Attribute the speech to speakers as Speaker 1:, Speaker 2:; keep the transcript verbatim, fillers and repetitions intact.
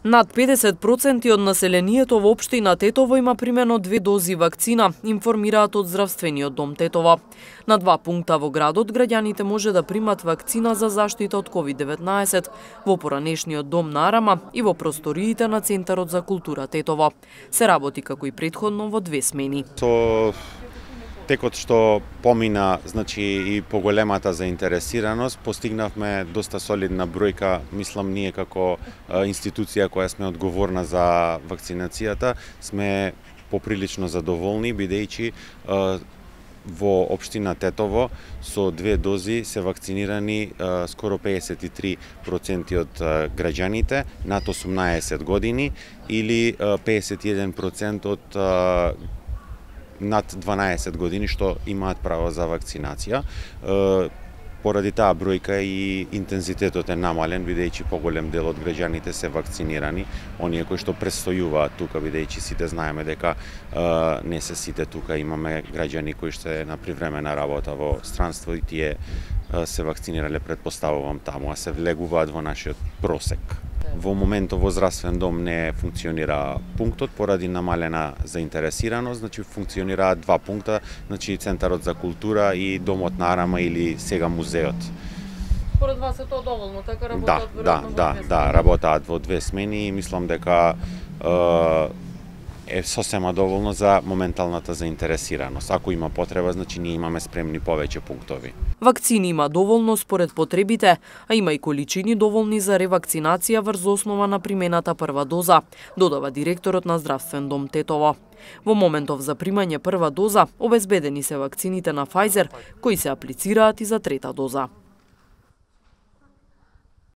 Speaker 1: Над педесет проценти од населението во општина Тетово има примено две дози вакцина, информираат од Здравствениот дом Тетово. На два пункта во градот граѓаните може да примат вакцина за заштита од ковид деветнаесет во поранешниот дом на Арама и во просториите на Центарот за култура Тетово. Се работи како и претходно во две смени.
Speaker 2: Со текот што помина, значи и поголемата заинтересираност, постигнавме доста солидна бројка, мислам ние како институција која сме одговорна за вакцинацијата, сме поприлично задоволни, бидејќи во општина Тетово со две дози се вакцинирани скоро педесет и три проценти од граѓаните над осумнаесет години или педесет и еден процент од над дванаесет години што имаат право за вакцинација. Поради таа бројка и интензитетот е намален, бидејќи поголем дел од граѓаните се вакцинирани, оние кои што престојуваат тука, бидејќи сите знаеме дека е, не се сите тука, имаме граѓани кои што е на привремена работа во странство и тие е, се вакцинирале, предпоставувам таму, а се влегуваат во нашиот просек. Во моментот во здравствен дом не функционира пунктот поради намалена заинтересираност, значи функционираат два пункта, значи Центарот за култура и Домот на Арама или сега музеот.
Speaker 1: Според вас е тоа доволно, така работат
Speaker 2: да, да, да, да, работаат во две смени и мислам дека е, е сосема доволно за моменталната заинтересираност. Ако има потреба, значи ние имаме спремни повеќе пунктови.
Speaker 1: Вакцини има доволно според потребите, а има и количини доволни за ревакцинација врз основа на примената прва доза, додава директорот на Здравствен дом Тетово. Во моментов за примање прва доза, обезбедени се вакцините на Pfizer, кои се аплицираат и за трета доза.